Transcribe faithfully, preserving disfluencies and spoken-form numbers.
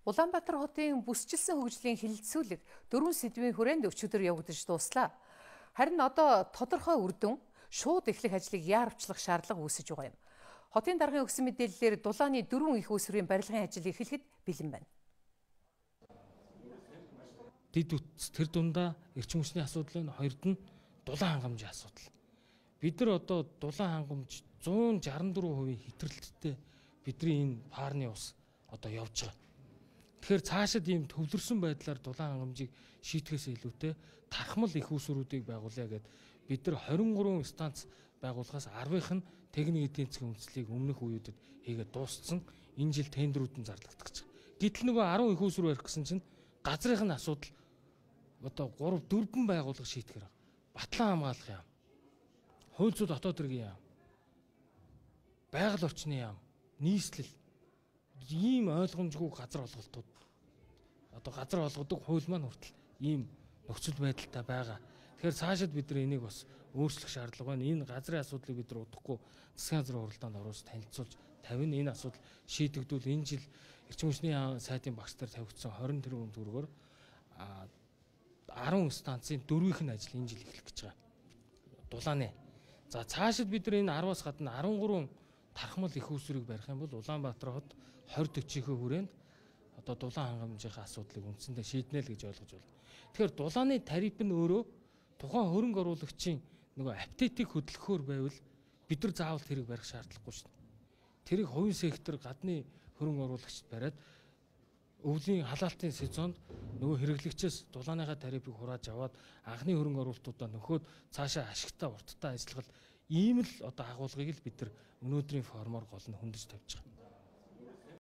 Улаанбаатар хотын бүсчилсэн хөгжлийн хилэлцүүлэг дөрвөн сэдвийн хүрээнд өчигдөр явагдаж дуслаа. Харин одоо тодорхой үр дүн шууд эхлэх ажлыг яарвчлах шаардлага үүсэж байгаа юм. Хотын даргын өгсөн мэдээллээр дулааны дөрвөн их усрын барилгын ажил эхлэхэд бэлэн байна. Дид үтс тэр дундаа эрчим хүчний асуудал байна, хоёрд нь дулаан хангамжийн асуудал. Бид нар одоо дулаан хангамж зуун шаран дөрвөн хувийн хэтрэлттэй бидний энэ парны ус одоо явж байгаа. Тэгэхээр цаашид ийм төвлөрсөн байдлаар дулаан хангамжийг шийтгэхээс илүүтэй тархмал их усруудыг байгуулъя гэд бид нар хорин гурван станц байгуулахаас арвынх нь техник эдийн засгийн үндэслэлийг өмнөх үеүүдэд хийгээд дууссан. Энэ жил тендерүүд нь зарлагдаж байгаа. Гэтэл нөгөө арван их усруу барих гэсэн чинь газрынх нь асуудал одоо гурав дөрвөн байгууллага шийтгэхэр байгаа. Батлан хамгаалах яам, хууль зүйн дотоод хэргийн яам, байгаль орчны яам, нийслэл ийм ойлгомжгүй газар олголтууд одоо газар олгодог хууль маань хүртэл ийм нөхцөл байдалтай байгаа. Тэгэхээр цаашид бид нар энийг бас өөрчлөх шаардлага байна. Энэ газрын асуудлыг бид нар удахгүй засгийн газрын уралдаанд оруулж танилцуулж тавина. Энэ асуудал шийдэгдвэл энэ жил эрчим хүчний сайдын багш нар тавигдсан хорин тэрбум төгрөгөөр арван станцын дөрвийнх нь ажил энэ жил эхлэх гэж байгаа. Дулааны. За цаашид бид нар энэ арваас гадна арван гурван тархмал их усрыг барих юм бол Улаанбаатар хот двадцать төрчийнхөө хүрээнд одоо дулаан хангамжийн асуудлыг үндсэндээ шийднэ л гэж ойлгож байна. Тэгэхээр дулааны тариф нь өөрөө тухайн хөрөнгө оруулагчийн нөгөө аппетитийг хөдөлгөхөөр байвал бид нар заавал тэрийг барих шаардлагагүй шин. Тэрийг хувийн сектор гадны хөрөнгө оруулагчид бариад өвлийн халаалтын сезонд нөгөө хэрэглэгчээс дулааныхаа тарифыг хурааж аваад анхны хөрөнгө оруулалтуудаа нөхөөд цаашаа ашигтай урттай ажиллах ийм л одоо агуулгыг л бид нар өнөөдрийн формоор гол нь хөндөж тавьж байгаа.